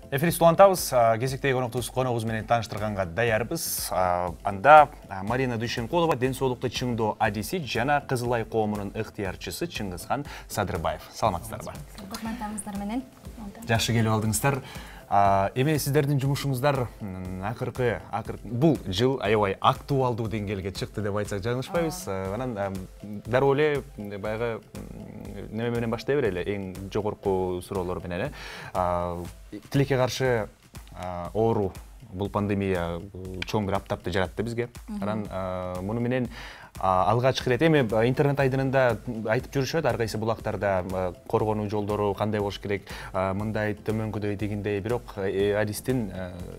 Эфирибизди улантабыз. Кезектеги коногубуз менен тааныштырганга даярбыз. Анда Марина Дүйшенкулова, ден соолукту чыңдоо адиси жана Кызыл Ай коомунун ыктыярчысы Чыңгызхан Садырбаев. Саламатсыздарбы? Кызматтарыңыздар менен. Жакшы келип алдыңыздар. Эми сиздердин жумушуңуздар бул жыл аябай актуалдуу деңгээлге чыкты деп айтсак жаңылышпайбыз. Анан дароо эле баягы неме менен баштай берели, эң жогорку суроолор менен. Тилекке каршы оору, бул пандемия чоң бир аптапты жаратты бизге. Анан муну менен алгачкы ирет эми интернет айдынында айтып жүрүшөт, ар кайсы булактарда коргонуу жолдору кандай болуш керек, мындай төмөнкүдөй дегендей, бирок адистин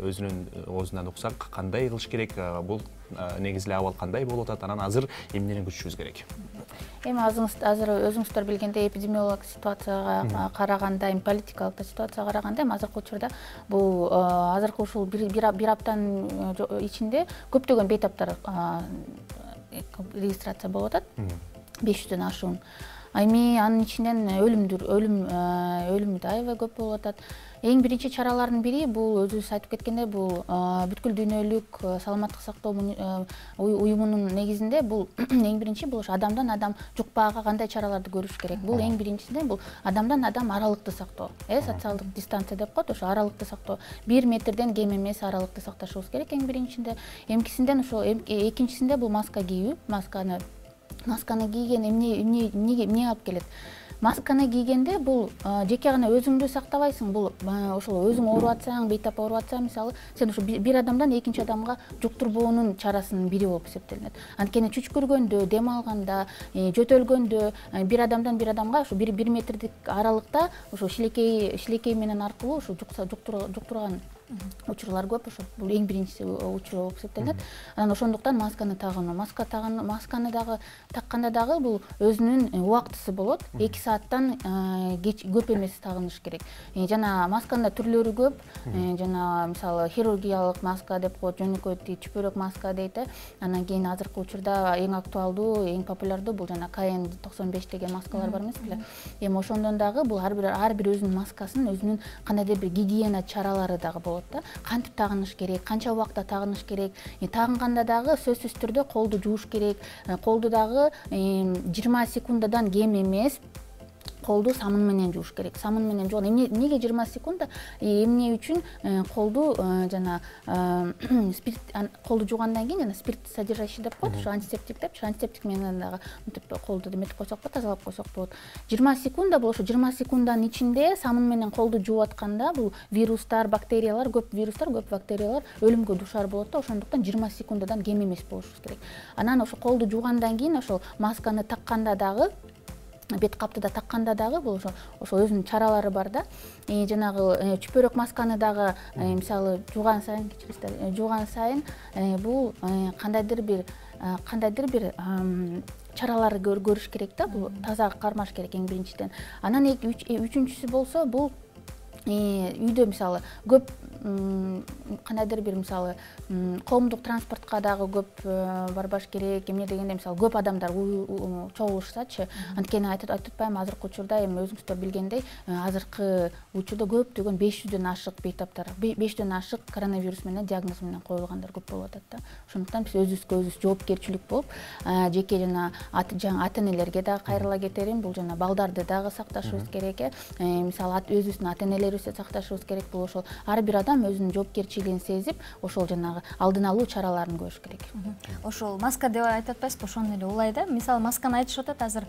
өзүнүн оозунан уксак кандай кылыш керек, бул негизи эле абал кандай болуп атат, анан азыр эмнени күтүшүбүз керек? Эми азыр өзүңүздөр билгендей эпидемиологик ситуацияга караганда, политикалык ситуацияга караганда азыркы учурда бул азыркы ушул бир аптанын ичинде көптөгөн бейтаптар регистрация болуп атат, 500дөн ашуун. Эми анын ичинен өлүм да аябай көп болуп атат. Эң биринчи чаралардын бири бул өзүбүз айтып кеткендей, бул бүткүл дүйнөлүк саламаттык сактоо уюмунун негизинде бул эң биринчи бул адамдан адам жукпаага кандай чараларды көрүш керек. Бул эң биринчисинен бул адамдан адам аралыкты сактоо. Социалдык дистанция деп коет, ошо аралыкты сактоо. 1 метрден кем эмес аралыкты сакташыбыз керек эң биринчисинде. Экинчисинде бул маска кийүү. Масканы кийген эмне алып келет? Масканы кийгенде бул жеке гана өзүңдү сактабайсың, бул ошол өзүң ооруп атсаң, бейтап ооруп атсаң, мисалы, сен ошо бир адамдан экинчи адамга жуктурбоонун чарасынын бири болуп эсептелинет. Анткени чүчкүргөндө, дем алганда, жөтөлгөндө бир адамдан бир адамга ошо 1 метрдик аралыкта ошо шилекей менен аркылуу ошо жуктурган учурлар көп. Ошо бул эң биринчи учур болуп эсептелинет. Анан ошондуктан масканы тагынуу. Масканы дагы такканда дагы бул өзүнүн убактысы болот. 2 сааттан көп эмес тагыныш керек. Жана масканын түрлөрү көп. Жана мисалы хирургиялык маска деп коет, жөнөкөй чүпөрөк маска дейт. Анан кийин азыркы учурда эң актуалдуу, эң популярдуу бул жана KN95 деген маскалар бар эмес беле. Эми ошондон дагы бул ар бир өзүнүн маскасын, өзүнүн кандайдыр бир гигиена чаралары дагы болот. Кантип тагыныш керек, канча убакта тагыныш керек, тагынганда дагы сөзсүз түрдө колду жууш керек. Колду дагы 20 секундадан кем эмес колду самын менен жууш керек. Самын менен жууган эмнеге 20 секунда? Эмне үчүн колду жана спирт колду жуугандан кийин жана спирт содержащий деп коет, ошо антисептик деп, антисептик менен дагы мынтип колду эметип койсок болот, тазалап койсок болот. 20 секунда бул ошо 20 секунданын ичинде самын менен колду жууп атканда бул вирустар, бактериялар, көп бактериялар өлүмгө дуушар болот да, ошондуктан 20 секундадан кем эмес болушубуз керек. Анан ошо колду жуугандан кийин ошол масканы такканда дагы, бет каптыда такканда дагы бул ошо өзүнүн чаралары бар да. Жанагы чүпөрөк масканы дагы мисалы жууган сайын бул кандайдыр бир чараларды көрүш керек да. Бул таза кармаш керек эң биринчиден. Анан үчүнчүсү болсо бул үйдө мисалы көп кандайдыр бир мисалы коомдук транспортко дагы көп барбаш керек. Эмне дегенде мисалы көп адамдар чогулушсачы, анткени айтып атпаймынбы, азыркы учурда эми өзүңүздөр билгендей, азыркы учурда көптөгөн 500дөн ашык бейтаптар, 500дөн ашык коронавирус менен диагноз менен коюлгандар көп болуп атат да. Ошондуктан биз өзүбүзгө өзүбүз жоопкерчилик болуп, жеке жана ата-энелерге дагы кайрыла кетерим, бул жана балдарды дагы сакташыбыз керек. Мисалы өзүбүздүн ата-энелерибизди сакташыбыз керек. Бул ошол ар бир адам өзүнүн жоопкерчилигин сезип, ошол жанагы алдын алуу чараларын көрүш керек. Ошол маска деп айтып атпайсызбы, ошону эле улай да. Мисалы масканы айтышып атат, азыр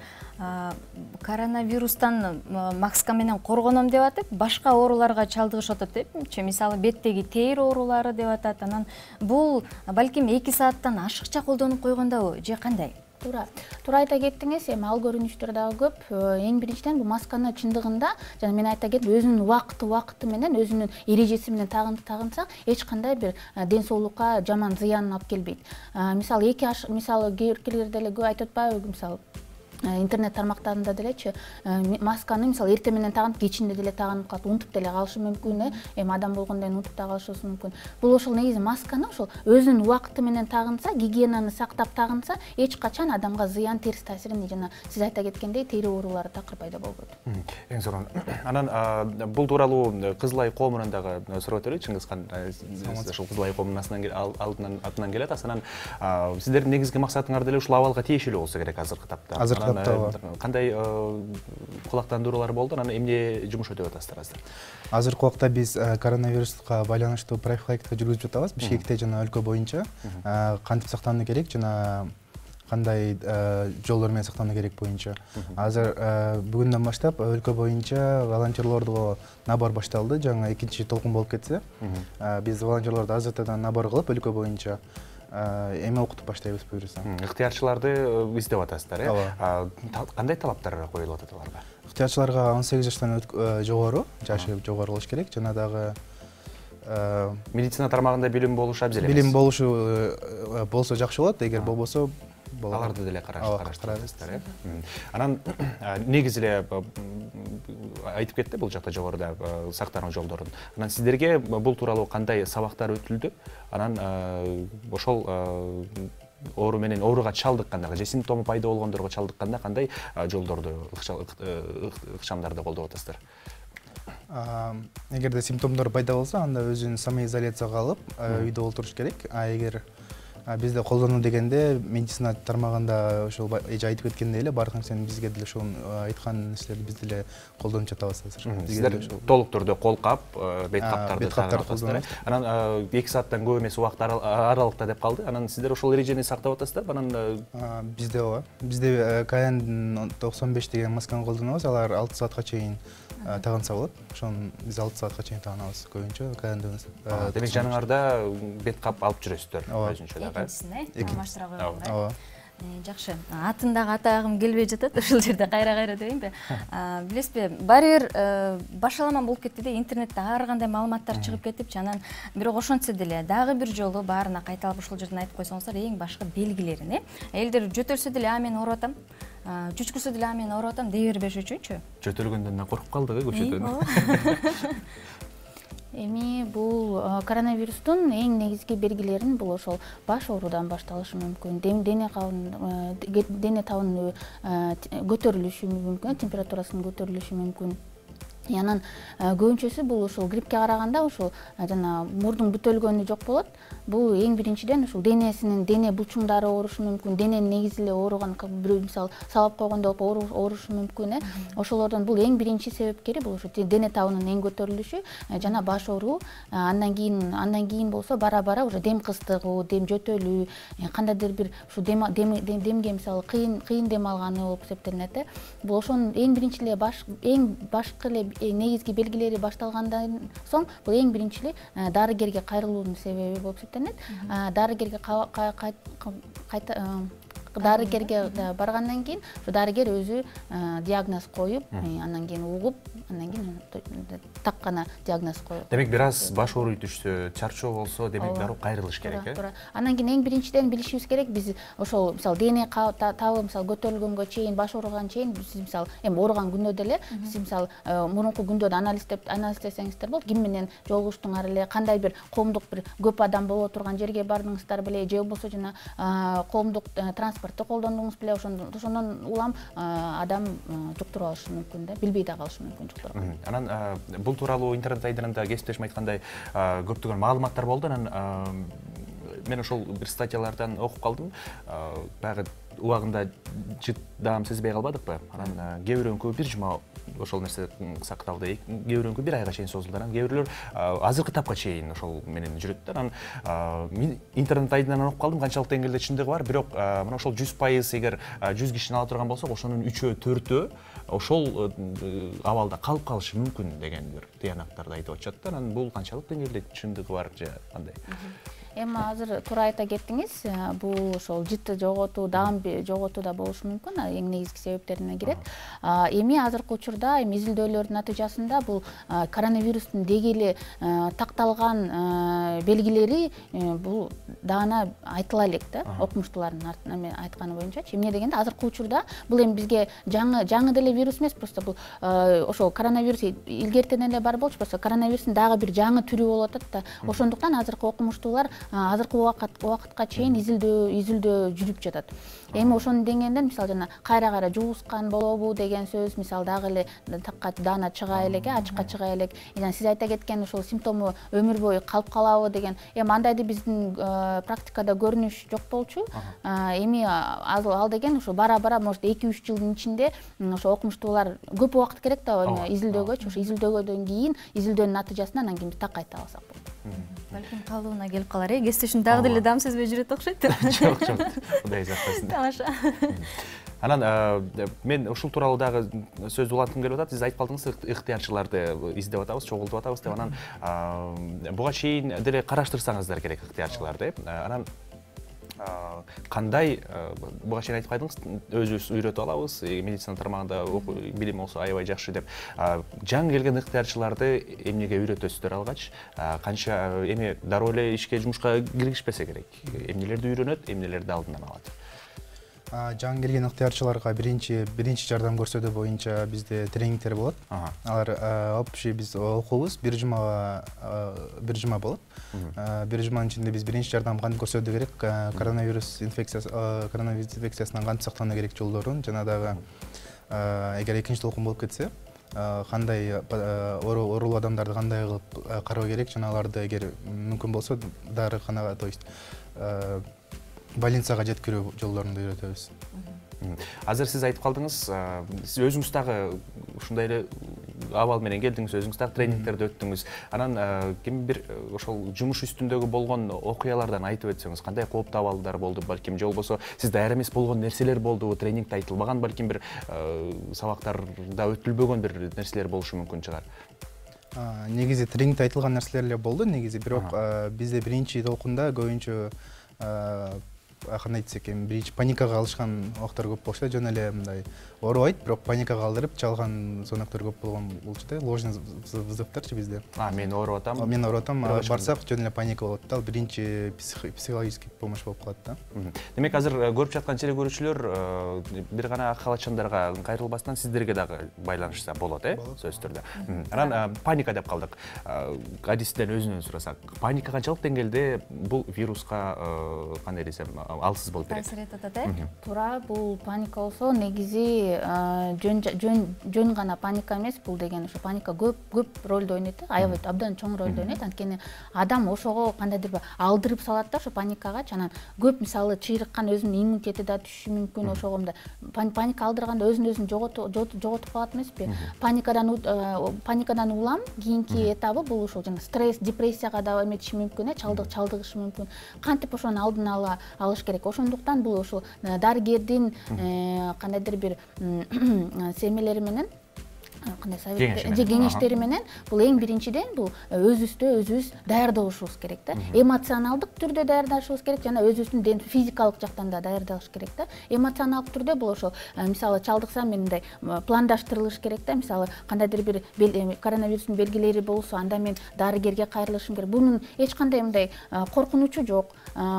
коронавирустан маска менен коргоном деп атып, башка ооруларга чалдыгышып атат депчи. Мисалы беттеги тээр оорулары деп атат. Анан бул балким 2 сааттан ашыкча колдонуп койгондобу же кандай? Туура айта кеттиңиз. Эми ал көрүнүштөр дагы көп. Эң биринчиден бул масканы чындыгында жана мен айта кеттим, өзүнүн убакыты менен, өзүнүн эрежеси менен тагынсак, эч кандай бир ден соолукка жаман зыянын алып келбейт. Мисалы кээ биркилер деле айтып атпайбы, мисалы интернет тармактарында делечи масканы мисалы эртең менен тагынып кечинде деле тагынып калып унутуп деле калышы мүмкүн, эми адам болгондон кийин унутуп да калышы мүмкүн. Бул ошол негизи масканы ошол өзүнүн убакыты менен тагынса, гигиенаны сактап тагынса, эч качан адамга зыян, терс таасирин жана сиз айта кеткендей тери оорулары такыр пайда болбойт. Эң сонун. Анан бул тууралуу Кызыл Ай коомунан дагы сурап өтөлү. Чыңгызхан ошол Кызыл Ай коомунун атынан келет. Анан сиздердин негизги максатыңар деле ушул абалга тиешелүү болсо керек азыркы тапта. Кандай кулактандыруулар болду? Анан эмне жумуш өтүп атасыздар азыр? Азыркы убакта биз коронавируска байланыштуу профилактика жүргүзүп жатабыз. Бишкекте жана өлкө боюнча кантип сактануу керек жана кандай жолдор менен сактануу керек боюнча. Азыр бүгүндөн баштап өлкө боюнча волонтерлорго набор башталды. Жаңы экинчи толкун болуп кетсе, биз волонтерлорду азыртадан набор кылып өлкө боюнча эме окутуп баштайбыз буюрса. Ыктыярчыларды издеп атасыздар, кандай талаптар коюлуп атат аларга? Ыктыярчыларга 18 жаштан жогору, жашы жогору болуш керек. Жана дагы медицина тармагында билим болушу абзел эмес. Билим болушу болсо жакшы болот, эгер болбосо аларды деле караштырасыздар. Анан негизи эле айтып кетти бул жакта жогоруда сактануу жолдорун. Анан сиздерге бул тууралуу кандай сабактар өтүлдү? Анан ошол оору менен ооруга чалдыкканда же симптому пайда болгондорго чалдыкканда кандай жолдорду, ыкчамдарды колдоп атасыздар? Эгерде симптомдор пайда болсо, анда өзүн самоизоляцияга алып, үйдө олтуруш керек. Эгер бизде колдонуу дегенде медицина тармагында ошол эже айтып кеткендей эле баардык нерсени бизге деле ошол айткан нерселерди биз деле колдонуп жатабыз азыр. Сиздер толук түрдө кол кап, бет каптарды колдонуп. Анан 2 сааттан көп эмес убакыт аралыкта деп калды. Анан сиздер ошол эрежени сактап атасыздарбы? Анан бизде ооба. Бизде KN95 деген масканы колдонобуз. Алар 6 саатка чейин тагынса болот. Ошону биз 6 саатка чейин тагынабыз көбүнчө KN95. Демек жаныңарда бет кап алып жүрөсүздөр өзүнчө дагы. Алмаштыра койгондой. Ооба. Жакшы. Атын дагы атагым келбей жатат. Ушул жерде кайра дейинби? Билесизби, баары бир башаламан болуп кетти да, интернетте ар кандай маалыматтар чыгып кетипчи. Анан бирок ошентсе деле дагы бир жолу баарына кайталап ушул жерден айтып койсоңуздар, эң башкы белгилерин, Элдер жөтөлсө деле мен ооруп атам, чүчкүрсө деле мен ооруп атам дей бербеш үчүнчү. Жөтөлгөндөн коркуп калдык көчөдөн. Эми бул коронавирустун эң негизги белгилерин бул ошол баш оорудан башталышы мүмкүн, дене табынын көтөрүлүшү мүмкүн, температурасынын көтөрүлүшү мүмкүн. Анан көбүнчөсү бул ушул гриппке караганда ушул жана мурдун бүтөлгөнү жок болот. Бул эң биринчиден ушул дене булчуңдары оорушу мүмкүн, дененин негизи эле ооруган, бирөө мисалы салап койгондой болуп оорушу мүмкүн. Ошолордон бул эң биринчи себепкери бул ушу дене табынын эң көтөрүлүшү жана баш ооруу. Андан кийин болсо бара уже дем кыстыгуу, дем жөтөлүү, кандайдыр бир ушу демге мисалы кыйын дем алганы болуп эсептелинет. Бул ошонун эң биринчи эле эң башкы эле негизги белгилери башталгандан соң бул эң биринчи эле дарыгерге кайрылуунун себеби болуп эсептелинет. Дарыгерге баргандан кийин ушу дарыгер өзү диагноз коюп, андан кийин угуп, андан кийин так гана диагноз коет. Демек бир аз баш ооруй түшсө, чарчоо болсо, демек дароо кайрылыш керек, Туура. Андан кийин эң биринчиден билишибиз керек, биз ошол мисалы дене табы мисалы көтөрүлгөнгө чейин, баш ооруганга чейин биз мисалы эми ооруган күндө деле сиз мисалы мурунку күндө анализдесеңиздер болот, ким менен жолугуштуңар эле, кандай бир коомдук бир көп адам боло турган жерге бардыңыздар беле, же болбосо жана коомдук транспортты колдондуңуз беле, ошондон улам адам жуктуруп алышы мүмкүн да, билбей да калышы мүмкүн жуктуруп. Анан бул тууралуу интернет айдынында кесиптешим айткандай көптөгөн маалыматтар болду. Анан мен ошол бир статьялардан окуп калдым. Баягы убагында чыдаам сезбей калбадыкпы? Анан кээ бирөөнүкү бир жума ошол нерсе сакталды, кээ бирөөнүкү бир айга чейин созулду. Анан кээ бирлөр азыркы тапка чейин ошол менен жүрөт да. Анан мен интернет айдынан окуп калдым, канчалык деңгээлде чындыгы бар, бирок мына ошол 100% эгер 100 кишини ала турган болсок, ошонун 3-4 ошол абалда калып калышы мүмкүн деген бир тыянактарды айтып атышат да. Анан бул канчалык деңгээлде чындыгы бар же кандай? Эми азыр туура айта кеттиңиз, бул ошол жытты жоготуу, дагым жоготуу да болушу мүмкүн, эң негизги себептерине кирет. Эми азыркы учурда изилдөөлөрдүн натыйжасында бул коронавирустун деги эле такталган белгилери бул даана айтыла элек да, окумуштуулардын айтканы боюнчачы. Эмне дегенде азыркы учурда бул эми бизге жаңы деле вирус эмес, просто бул ошол коронавирус илгертен эле бар болчу, просто коронавирустун дагы бир жаңы түрү болуп атат да. Ошондуктан азыркы окумуштуулар азыркы убакытка чейин изилдөө жүрүп жатат. Эми ошонун деңгээлинен мисалы жана кайра жуускан болобу деген сөз мисалы дагы эле такка даана чыга элек, ачыкка чыга элек. Жана сиз айта кеткен ошол симптому өмүр бою калып калабы деген. Эми андайды биздин практикада көрүнүш жок болчу. Эми ал деген ошо бара может 2-3 жылдын ичинде ошо окумуштуулар көп убакыт керек да изилдөөгө, ошо изилдөөгөдөн кийин изилдөөнүн натыйжасынан анан кийин так айта алсак болот. Балким калыбына келип калар, кесиптешим дагы деле дам сезбей жүрөт окшойт. Жок, Кудай сактасын. Тамаша. Анан мен ушул тууралуу дагы сөз уланткым келип атат. Сиз айтып калдыңыз, ыктыярчыларды издеп атабыз, чогултуп атабыз деп. Анан буга чейин деле караштырсаңыздар керек ыктыярчыларды. Анан кандай буга чейин айтып калдыңыз, өзүбүз үйрөтүп алабыз, медицина тармагында билим болсо аябай жакшы деп. Жаңы келген ыктыярчыларды эмнеге үйрөтөсүздөр алгач? Канча эми дароо эле ишке, жумушка киргишпесе керек? Эмнелерди үйрөнөт, эмнелерди алдынан алат? Жаңы келген ыктыярчыларга биринчи жардам көрсөтүү боюнча бизде тренингтер болот. Алар общий биз окуубуз, бир жума болот. Бир жуманын ичинде биз биринчи жардам кантип көрсөтүү керек, коронавирус инфекциясынан кантип сактануу керек жолдорун, жана дагы эгер экинчи толкун болуп кетсе, кандай оорулуу адамдарды кандай кылып кароо керек, жана аларды эгер мүмкүн болсо дарыканага, то есть больницага жеткирүү жолдорун үйрөтөбүз. Азыр сиз айтып калдыңыз, сиз өзүңүз дагы ушундай эле абал менен келдиңиз, өзүңүз дагы тренингтерди өттүңүз. Анан ким бир ошол жумуш үстүндөгү болгон окуялардан айтып өтсөңүз, кандай кооптуу абалдар болду, балким же болбосо сиз даяр эмес болгон нерселер болдубу, тренингде айтылбаган, балким бир сабактарда өтүлбөгөн бир нерселер болушу мүмкүн чыгар. Негизи тренингде айтылган нерселер эле болду, негизи, бирок бизде биринчи толкунда көбүнчө кандай десек эми биринчи паникага алышкан октор көп болчу да, жөн эле мындай оорубайт, бирок паникага алдырып чалган звоноктор көп болгон болчу да, ложный вызовторчу бизде. Мен ооруп атам. Мен ооруп атам, барсак жөн эле паника болот да, биринчи психологический помощь болуп калат да. Демек азыр көрүп жаткан теле көрүүчүлөр бир гана ак халатчандарга кайрылбастан сиздерге дагы байланышса болот, сөзсүз түрдө. Анан паника деп калдык. Адистен өзүнөн сурасак, паника канчалык деңгээлде бул вируска кандай десем алсыз болуп берет? Таасир этип атат, Туура, бул паника болсо негизи жөн гана паника эмес, бул деген ошо паника көп ролду ойнойт, аябай абдан чоң ролду ойнойт. Анткени адам ошого кандайдыр бир алдырып салат да ошо паникага. Анан көп мисалы чыйрыккан өзүнүн иммунитети да түшүшү мүмкүн, ошого паника алдырганда өзүн жоготуп калат эмеспи? Паникадан улам кийинки этабы бул ошол жана стресс, депрессияга да эметиши мүмкүн, чалдыгышы мүмкүн. Кантип ошонун алдын алыш керек? Ошондуктан бул ошол дарыгердин кандайдыр бир семелери менен, кандай кеңештери менен бул эң биринчиден бул өзүбүз даярдалышыбыз керек да. Эмоционалдык түрдө даярдалышыбыз керек, жана өзүбүздүн физикалык жактан да даярдалыш керек да. Эмоционалдык түрдө бул ошол мисалы чалдыксам мен мындай пландаштырылыш керек да. Мисалы кандайдыр бир коронавирустун белгилери болсо, анда мен дарыгерге кайрылышым керек. Бунун эч кандай мындай коркунучу жок.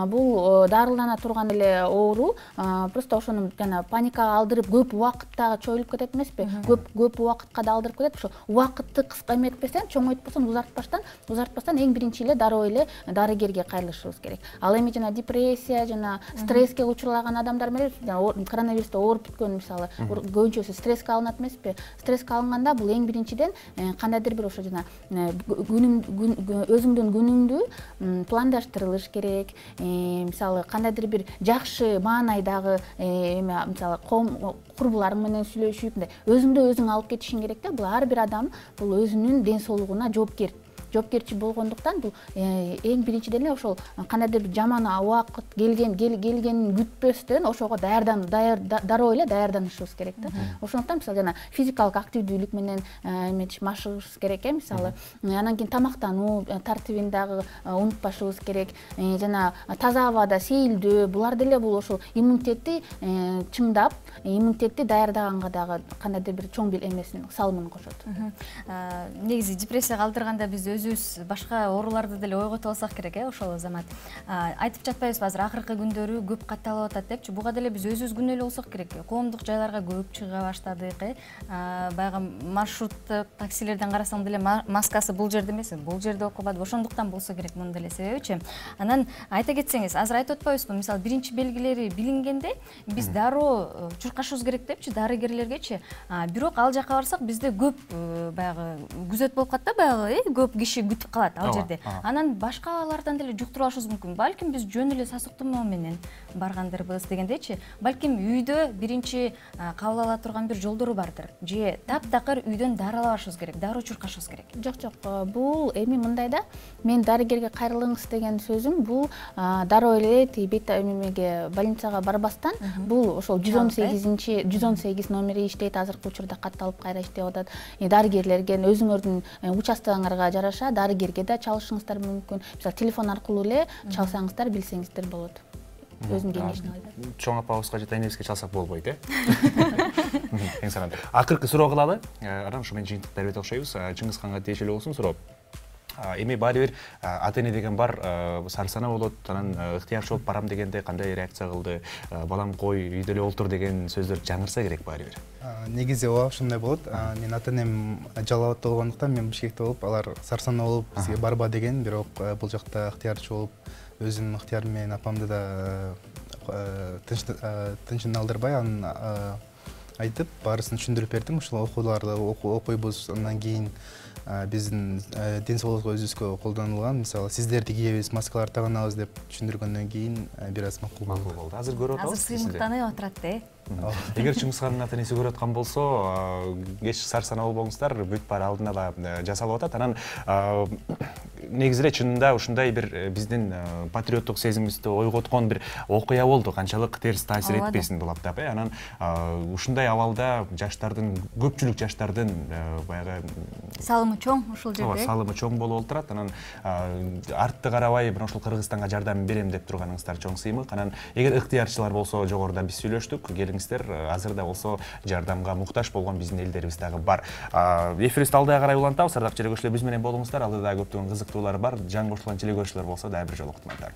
Бул дарылана турган эле оору, просто ошону жана паникага алдырып көп убакытта чоюлуп кетет эмеспи? Көп убакытка да алдырып кетет. Ошо убакытты кыска эметпестен, чоңойтпостон, узартпастан эң биринчи эле дароо эле дарыгерге кайрылышыбыз керек. Ал эми жана депрессия, жана стресске учурлаган адамдар менен коронавирустан ооруп бүткөн мисалы көбүнчөсү стресске алынат эмеспи? Стресске алынганда бул эң биринчиден кандайдыр бир ошо жана өзүңдүн күнүңдү пландаштырылыш керек. Мисалы кандайдыр бир жакшы маанайдагы мисалы курбуларың менен сүйлөшүп, өзүңдү өзүң алып кетишиң керек да. Бул ар бир адам бул өзүнүн ден соолугуна жоопкер. жоопкерчилик болгондуктан бул эң биринчиден эле ошол кандайдыр бир жаман убакыт келгенин күтпөстөн ошого дароо эле даярданышыбыз керек да. Ошондуктан мисалы жана физикалык активдүүлүк менен машыгышыбыз керек мисалы. Анан кийин тамактануу тартибин дагы унутпашыбыз керек. Жана таза абада сейилдөө, булар деле бул ошол иммунитетти чыңдап, иммунитетти даярдаганга дагы кандайдыр бир чоң бир эмесин, салымын кошот. Негизи депрессияга алдырганда биз өзүбүз башка ооруларды деле ойгото алсак керек, ошол замат. Айтып жатпайбызбы азыр акыркы күндөрү көп катталып атат депчи, буга деле биз өзүбүз күнөөлүү болсок керек. Коомдук жайларга көп чыга баштадык, баягы маршруттук таксилерден карасаң деле маскасы бул жерде эмес, бул жерде окубады. Ошондуктан болсо керек мунун деле себебичи. Анан айта кетсеңиз, азыр айтып атпайбызбы, мисалы биринчи белгилери билингенде биз дароо чуркашыбыз керек депчи, дарыгерлергечи. Бирок ал жака барсак бизде көп баягы күзөт болуп калат да, баягы көп киши күтүп калат ал жерде. Анан башкалардан деле жуктуруп алышыбыз мүмкүн. Балким биз жөн эле сасыктоо менен баргандырбыз дегендечи. Балким үйдө биринчи кабыл ала турган бир жолдору бардыр. Же таптакыр үйдөн дары алабашыбыз керек, дароо чуркашыбыз керек. Жок, бул эми мындай да, мен дарыгерге кайрылыңыз деген сөзүм бул дароо эле эмеге больницага барбастан бул ошол 118 номери иштейт, азыркы учурда катталып кайра иштеп атат. Дарыгерлерге өзүңөрдүн участогуңарга жараша дарыгерге да чалышыңыздар мүмкүн. Мисалы телефон аркылуу эле чалсаңыздар, билсеңиздер болот. Өзүм кеңешин алайын. Чоң апабызга же тайнебизге чалсак болбойт, Эң санат. Акыркы суроо кылалы. Анан ушу менен жыйынтыктап берип окшойбуз. Чыңгызханга тиешелүү болсун суроо. Эми баары бир ата эне деген бар, сарсана болот, анан ыктыярчы болуп барам дегенде кандай реакция кылды? Балам кой, үйдө эле олтур деген сөздөр жаңырса керек баары бир. Негизи ошондой болот. Мен ата энем Жалал абадта болгондуктан мен Бишкекте болуп, алар сарсана болуп бизге барба деген, бирок бул жакта ыктыярчы болуп, өзүнүн ыктыяры менен апамды да тынчын алдырбай, анын айтып, баарысын түшүндүрүп бердим. Ушул окууларды окуйбуз, андан кийин биздин ден соолукка өзүбүзгө колдонулган, мисалы сиздерди кийебиз, маскаларды таганабыз деп түшүндүргөндөн кийин бир аз макул болду. Азыр көрүп атабыз. Азыр сыймыктанып атат, Эгер Чыңгызхандын ата энеси көрүп аткан болсо, кеч сарсана болбоңуздар, бүт баары алдын ала жасалып атат. Анан негизи эле чынында ушундай бир биздин патриоттук сезимибизди ойготкон бир окуя болду. Канчалык терс таасир этпесин бул аптап, Анан ушундай абалда жаштардын, көпчүлүк жаштардын баягы салымы чоң ушул жерде. Салымы чоң болуп отурат. Анан артты карабай мына ушул Кыргызстанга жардам берем деп турганыңыздар чоң сыймык. Анан эгер ыктыярчылар болсо, жогоруда биз сүйлөштүк, келиңиздер, азыр да болсо жардамга муктаж болгон биздин элдерибиз дагы бар. Эфирибизди алдыга карай улантабыз. Ардактуу желе көрүүчүлөр, биз менен болуңуздар. Алдыда көптөгөн кызыктуулар бар. Жан кошулган желе көрүүчүлөр болсо дагы бир жолуктум айтам.